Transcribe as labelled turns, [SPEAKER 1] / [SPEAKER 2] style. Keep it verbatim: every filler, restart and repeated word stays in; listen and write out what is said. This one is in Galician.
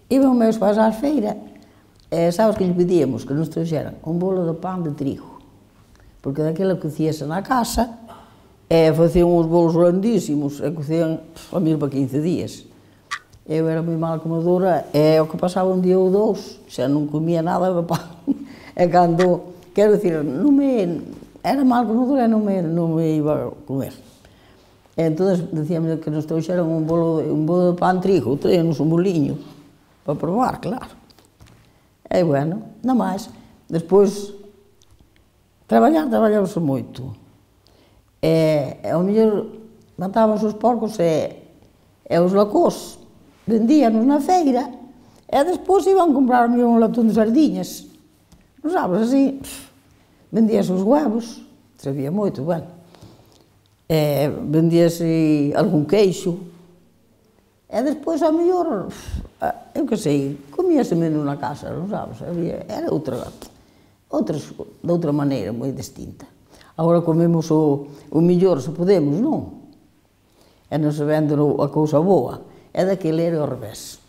[SPEAKER 1] Iban meus pais á feira, e sabes que lle pedíamos? Que nos trouxeran un bolo de pan de trigo, porque daquela cocíase na casa, e facían uns bolos grandísimos, e cocían a mil para quince días. Eu era moi mal comedora, e o que pasaba un día ou dous, xa non comía nada de pan. E cando, quero dicir, non me, era mal comedora e non me, non me iba a comer. E entón, decíamos que nos trouxeran un bolo, un bolo de pan trigo, traíanos un boliño, para probar, claro. E, bueno, non máis. Despois, traballar, traballábamos moito. E, ao mellor, matábamos os porcos e, e os lacós vendíanos na feira, e despois iban comprar un latón de sardiñas. Non sabes, así, vendíase os huevos, sabía moito, bueno. E vendíase algún queixo, e despois, ao mellor, eu que sei, comíase menos na casa, non sabes, había, era outra, outras, de outra maneira, moi distinta. Agora comemos o, o mellor, se podemos, non? E non se vende a cousa boa, e daquele era ao revés.